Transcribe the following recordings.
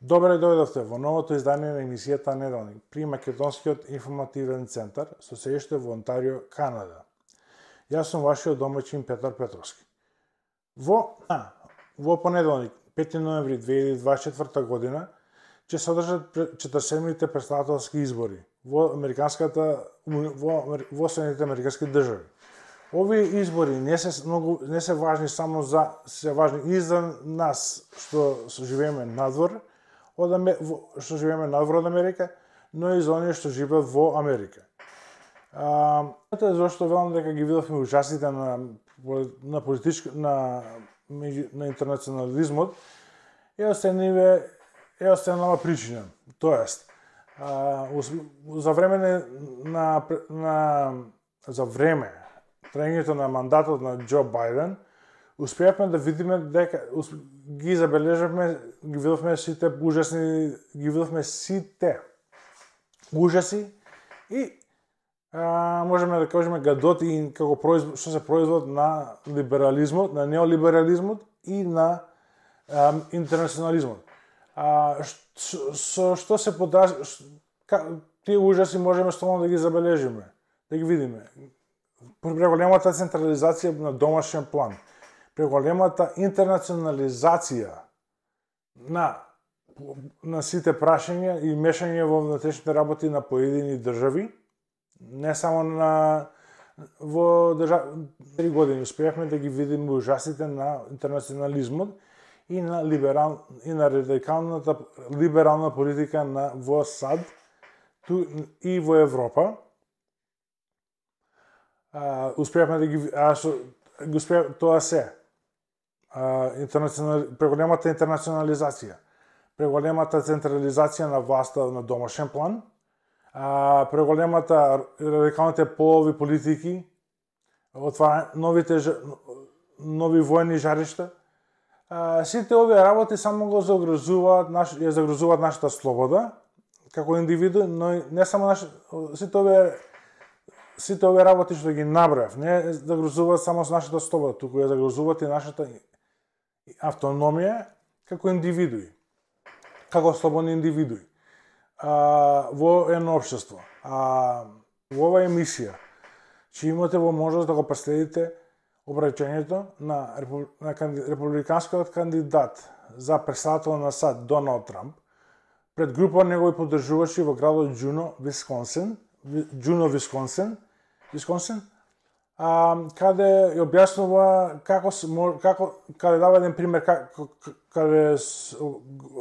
Добре дојдовте во новото издание на емисијата Неделник при Македонскиот информативен центар со седиште во Онтарио, Канада. Јас сум вашиот домаќин Петар Петровски. Во понеделник, 5 ноември 2024 година, ќе се одржат 47-те претседателски избори во Соединетите американски држави. Овие избори не се важни само се важни и за нас што живееме надвор од Америка, но и за оние што живеат во Америка. Зашто велам дека ги видовме ужасите на интернационализмот, е останала причина. Тоест, за време траењето на мандатот на Џо Бајден, успеавме да видиме дека ги забележавме, ги видовме сите ужаси и можеме да кажеме гадоти како што се производ на либерализмот, на неолиберализмот и на интернационализмот. Што се тие ужаси можеме стално да ги забележиме, да ги видиме. Преголемата централизација на домашен план, преголемата интернационализација на сите прашања и мешање во внатрешните работи на поедини држави, не само во 3 години успеавме да ги видиме ужасите на интернационализмот и на радикалната либерална политика во САД и во Европа. Успеавме да ги тоа се преголемата интернационализација, преголемата централизација на власта на домашен план, преголемата радикалните полови политики, нови воени жаришта. Сите овие работи само ја загрозуваат нашата слобода како индивиду, но не само сите овие работи што ги набрав, не загрозуваат само нашата слобода, туку ја загрозуваат и нашата автономија како индивидуи, како слободни индивидуи во едно општество. Во оваа емисија ќе имате можност да го преследите обраќањето на републиканскиот кандидат за председател на САД Доналд Трамп пред група негови поддржувачи во градот Џуно, Висконсин, каде ја објаснува каде дава еден пример каде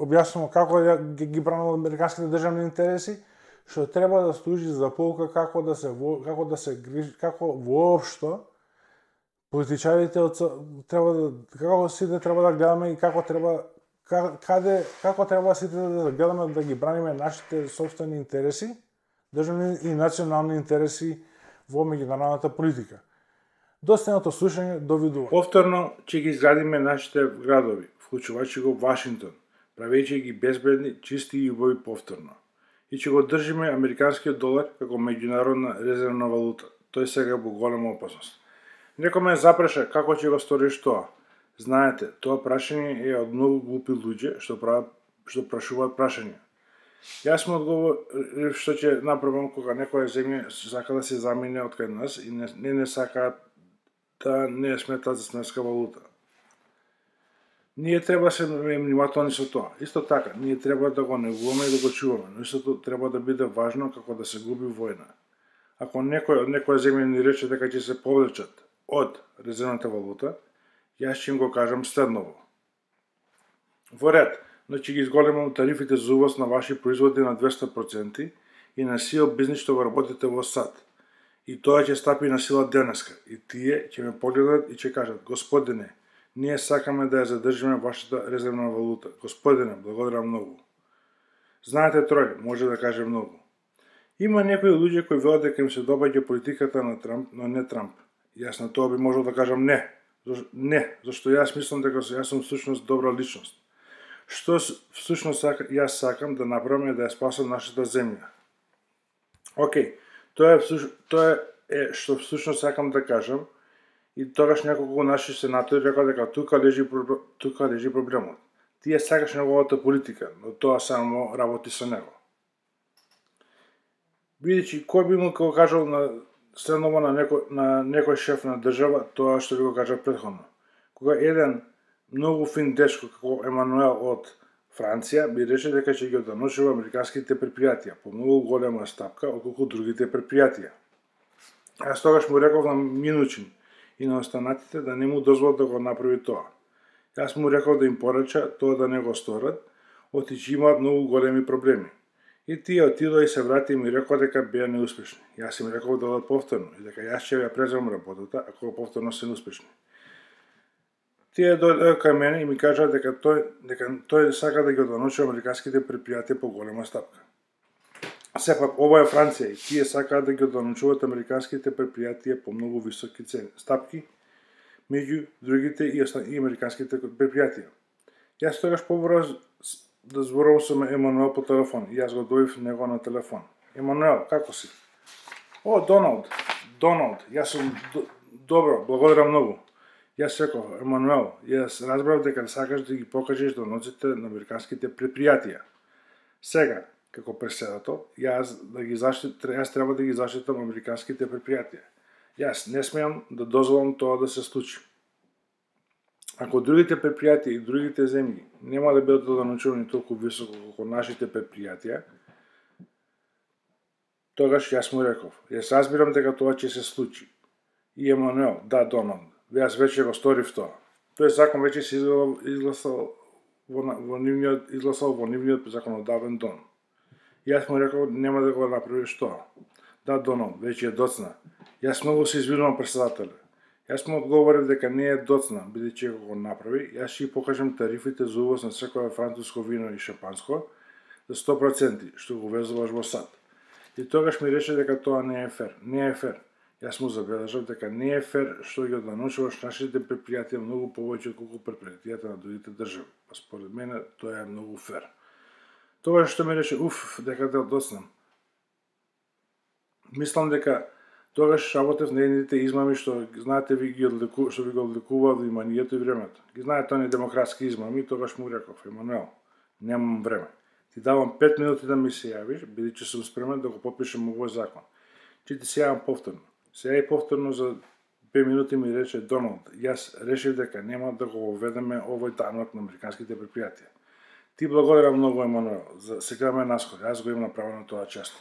објаснува како ги бранува американските државни интереси, што треба да служи за поука како воопшто политичарите како сите треба да гледаме и како треба сите да гледаме да ги браниме нашите сопствени интереси, државни и национални интереси во меѓународната политика. Достойното слушање, довидува. Повторно ќе ги изградиме нашите градови, вклучувајќи го Вашингтон, правејќи ги безбедни, чисти и убави повторно. И ќе го држиме американскиот долар како меѓународна резервна валута. Тој сега во голема опасност. Некој ме запраша како ќе го сториш тоа. Знаете, тоа прашање е од многу глупи луѓе што прашуваат прашања. Јас му одговорив што ќе направам кога некоја земја сака да се замине од кај нас и не сака да не ја сметаат за сметска валута. Ние треба да се внимателни со тоа. Исто така, ние треба да го негуваме и да го чуваме, но истото треба да биде важно како да се губи војна. Ако некој од некоја земја ни рече дека ќе се повлечат од резервната валута, јас ќе им го кажам следново. Во ред, но ќе ги изголемам тарифите за увоз на ваши производи на 200% и на сил бизнис што го работите во САД. И тоа ќе стапи на сила денеска. И тие ќе ме погледат и ќе кажат: Господине, ние сакаме да ја задржиме вашата резервна валута. Господине, благодарам многу. Знаете, Трој може да каже многу. Има некои луѓе кои велат дека им се добаѓа политиката на Трамп, но не Трамп. Јас на тоа би можел да кажам не. Не, зашто јас мислам дека јас сум всушност добра личност. Што всушност јас сакам да направам е да ја спасам нашата земја. Океј, тоа е што всушност сакам да кажам, и тогаш неколку наши сенатори рекоа дека тука лежи проблемот. Ти ја сакаш неговата политика, но тоа само работи со него. Бидејќи кој би му го кажал на средново на некој шеф на држава тоа што ви го кажа претходно. Кога еден многу фин дечко како Емануел од Франција би рече дека ќе ги одношува американските предпријатија по многу голема стапка отколку другите предпријатија. Јас тогаш му реков на Минучин и на останатите да не му дозволат да го направи тоа. Јас му реков да им порача тоа да не го сторат, оти имаат многу големи проблеми. И тие отидоа и се врати и ми рекоа дека беа неуспешни. Јас им реков да одат повторно и дека јас ќе ја преземам работата ако повторно се неуспешни. Тие дојдоа кај мене и ми кажаа дека тој сака да ги одношува американските предпријатија по голема стапка. Сепак ова е Франција и тие сакаат да ги одночуваат американските предпријатија по многу високи стапки, меѓу другите и американските предпријатија. Јас тогаш побрав да зборувам со Емануел по телефон и јас го добив него на телефон. Емануел, како си? О, Доналд, јас сум добро, благодарам многу. Јас реков, Емануел, јас разбрав дека сакаш да ги покажеш доноците на американските предпријатија. Сега, како преседател, јас треба да ги заштитам американските предпријатија. Јас не смеам да дозволам тоа да се случи. Ако другите предпријатија и другите земји нема да бидат одночувани толку високо како нашите предпријатија, тогаш јас му реков, јас разбирам дека тоа ќе се случи. И Емануел, да, Доналд, јас веќе го сторив тоа. Тој закон веќе се изгласал во нивниот законодавен дом. Јас му реков, нема да го направиш тоа. Да, Доналд, веќе е доцна. Јас многу се извинувам, председателе. Јас му одговорив дека не е доцна, бидејќи ако го направи, јас ќе покажам тарифите за увоз на секое француско вино и шампанско за 100%, што го везуваш во САД. И тогаш ми рече дека тоа не е фер. Не е фер. Јас му забележав дека не е фер што ги одночуваш нашите предпријатија многу повеќе отколку предпријатијата на другите држави. Според мене тоа е многу фер. Тогаш што ми рече, дека те доцнам. Мислам дека тогаш работев на едните измами што знаете што ви го одликуваат вниманието и времето. Ги знаете оние демократски измами, тогаш му реков, Емануел, немам време. Ти давам 5 минути да ми се јавиш, бидејќи сум спремен да го подпишем овој закон. Ќе ти се јавам повторно. Се јави повторно за 5 минути ми рече Доналд, јас решив дека нема да го воведеме овој данок на американските предпријатија. Ти благодарам многу, Емануел, за сега ме насход, јас го имам направено тоа често.